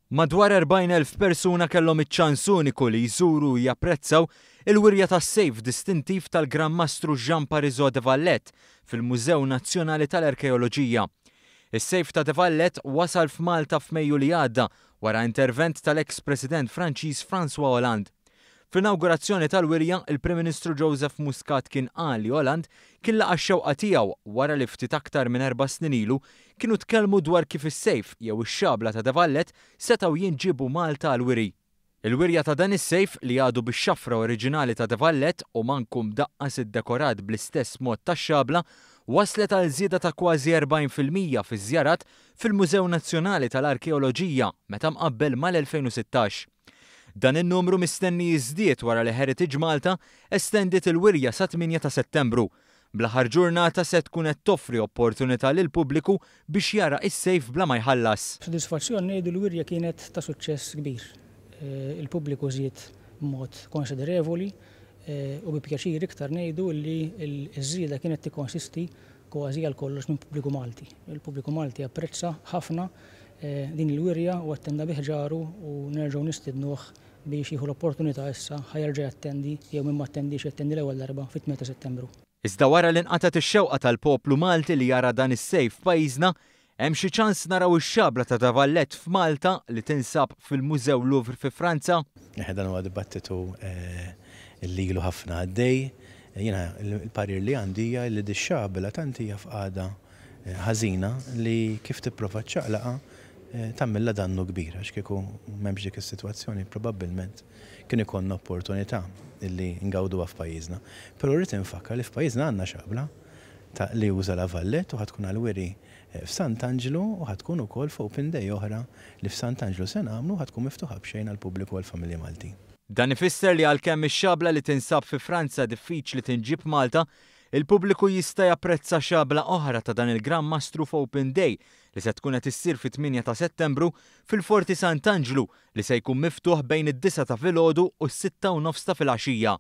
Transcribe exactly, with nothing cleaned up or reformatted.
Madwar erbgħin elf persuna kellhom iċ-ċans uniku li jżuru u japprezzaw il-wirja tas-sejf distintiv tal-Gran Mastru Jean Parisot de Valette fil-Mużew Nazzjonali tal-Arkeoloġija. Is-sejf ta' de Valette wasal f'Malta f'Mejju li għadda wara intervent tal-ex President Franċiż François Hollande. Fl-inaugurazzjoni tal-wirja, il-Prim Ministru Joseph Muscat kien qal li Hollande kien laqa' x-xewqa tiegħu wara li ftit aktar minn erba' snin ilu kienu tkellmu dwar kif is-sejf jew ix-xabla ta' de Valette setgħu jinġibu Malta għal-wiri. Il-wirja ta' dan is-sejf, li għadu bix-xafra oriġinali ta' de Valette u manku mdaqqas iddekorat bl-istess mod tax-xabla, waslet għal żieda ta' kważi erbgħin fil-mija fiż-żjarat fil-Mużew Nazzjonali tal-Arkeoloġija meta mqabbel mal-elfejn u sittax. Dan in-numru mistenni jiżdied wara li Heritage Malta estendiet il-wirja sa tmienja ta' Settembru. Bl-aħħar ġurnata se tkun qed toffri opportunità lil pubbliku biex jara is-sejf bla ma jħallas. Sodisfazzjon ngħidu l-wirja kienet ta' suċċess kbir. Eh, il-pubbliku żied b'mod konsiderevoli eh, u bi pjaċir iktar ngħidu li l-żieda kienet tikkonsisti kważi għal kollox minn pubbliku Malti. Il-pubbliku Malti apprezza ħafna eh, din il-wirja u attenda bi ħġaru u nerġgħu nistidnuh biex jieħu l-opportunità issa ħa jerġa' jattendi jew min ma attendix jattendi l-ewwel darba fit-tmienja ta' Settembru. Iżda wara li nqatat ix-xewqa tal-poplu Malti li jara dan is-sejf f'pajjiżna, hemm xi ċans naraw ix-xabla ta' de Valette f'Malta li tinsab fil-Mużew Louvre fi Franza? Dan huwa dibattitu eh, li ilu ħafna għaddej. Jiena il-parir li għandi hija li dix-xabla tant hija f'qagħda eh, ħażina li kif tipprova ċċaqlaqha eh, tagħmilha dannu kbir, għax kieku m'hemmx dik is-sitwazzjoni probabbilment kien ikollna opportunità illi ngawduha f'pajjiżna. Però rrid infakkar li f'pajjiżna għandna xabla ta' li uża La Valette u ħa tkun għal-wiri eh, f'Sant'Anġlu u ħa tkun ukoll f'Open Day oħra li f'Sant'Anġlu se nagħmlu, ħa tkun miftuħa b'xejn għall-pubbliku, għall-familji Maltin. Dan ifisser li għalkemm ix-xabla li tinsab fi Franza diffiċli tinġib Malta, il-pubbliku jista' japprezza xabla oħra ta' dan il-Gran Mastru f'Open Day li se tkun qed issir fit-tmienja ta' Settembru fil-Forti Sant'Anġlu, li se jkun miftuħ bejn id-disgħa ta' filgħodu u s-sitta u nofs ta' filgħaxija.